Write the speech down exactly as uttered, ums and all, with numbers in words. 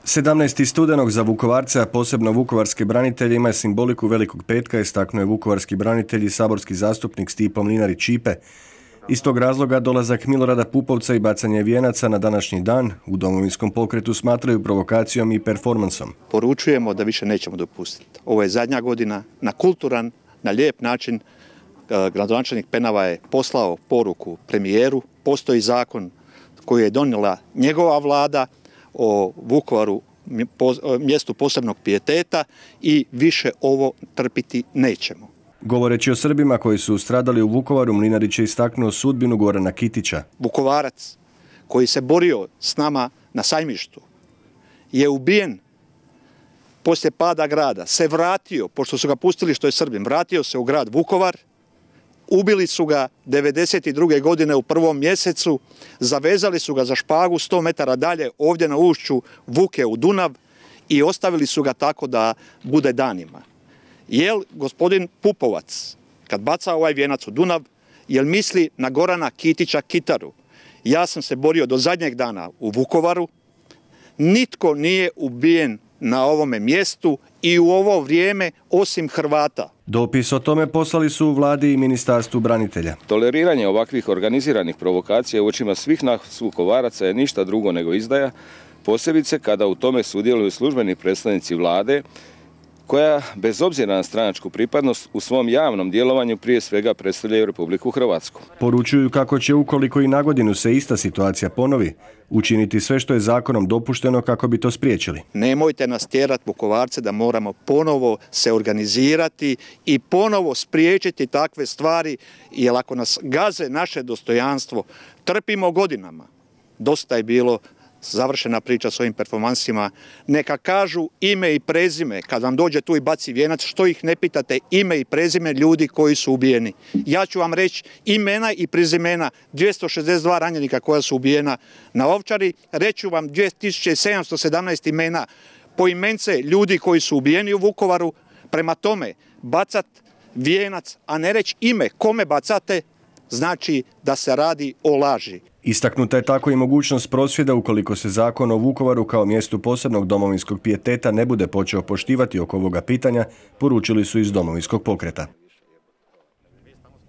sedamnaesti studenog za Vukovarce, a posebno vukovarske branitelje, ima simboliku Velikog petka, istaknuo je vukovarski branitelj i saborski zastupnik Stipo Mlinarić-Ćipe. Iz tog razloga dolazak Milorada Pupovca i bacanje vijenaca na današnji dan u Domovinskom pokretu smatraju provokacijom i performansom. Poručujemo da više nećemo dopustiti. Ovo je zadnja godina, na kulturan, na lijep način. Gradonačelnik Penava je poslao poruku premijeru. Postoji zakon koji je donijela njegova vlada o Vukovaru, mjestu posebnog pijeteta, i više ovo trpiti nećemo. Govoreći o Srbima koji su stradali u Vukovaru, Mlinarić je istaknuo sudbinu Gorana Kitića. Vukovarac koji se borio s nama na Sajmištu je ubijen poslije pada grada, se vratio, pošto su ga pustili što je Srbin, vratio se u grad Vukovar. Ubili su ga devedeset druge godine u prvom mjesecu, zavezali su ga za špagu sto metara dalje ovdje na ušću Vuke u Dunav i ostavili su ga tako da bude danima. Jel gospodin Pupovac, kad baca ovaj vijenac u Dunav, jel misli na Gorana Kitića Kitaru? Ja sam se borio do zadnjeg dana u Vukovaru, nitko nije ubijen na ovome mjestu i u ovo vrijeme osim Hrvata. Dopis o tome poslali su u vladi i Ministarstvu branitelja. Toleriranje ovakvih organiziranih provokacija u očima svih nas Vukovaraca je ništa drugo nego izdaja, posebice kada u tome sudjeluju službeni predstavnici vlade, koja bez obzira na stranačku pripadnost u svom javnom djelovanju prije svega predstavljaju Republiku Hrvatsku. Poručuju kako će, ukoliko i na godinu se ista situacija ponovi, učiniti sve što je zakonom dopušteno kako bi to spriječili. Nemojte nas tjerati, Vukovarce, da moramo ponovo se organizirati i ponovo spriječiti takve stvari, jer ako nas gaze naše dostojanstvo, trpimo godinama. Dosta je bilo. Završena priča s ovim performansima. Neka kažu ime i prezime. Kad vam dođe tu i baci vijenac, što ih ne pitate ime i prezime ljudi koji su ubijeni. Ja ću vam reći imena i prezimena dvjesto šezdeset dva ranjenika koja su ubijena na Ovčari. Reću vam dvije tisuće sedamsto sedamnaest imena poimence ljudi koji su ubijeni u Vukovaru. Prema tome, bacat vijenac, a ne reći ime kome bacate, znači da se radi o laži. Istaknuta je tako i mogućnost prosvjeda ukoliko se zakon o Vukovaru kao mjestu posebnog domovinskog pijeteta ne bude počeo poštivati oko ovoga pitanja, poručili su iz Domovinskog pokreta.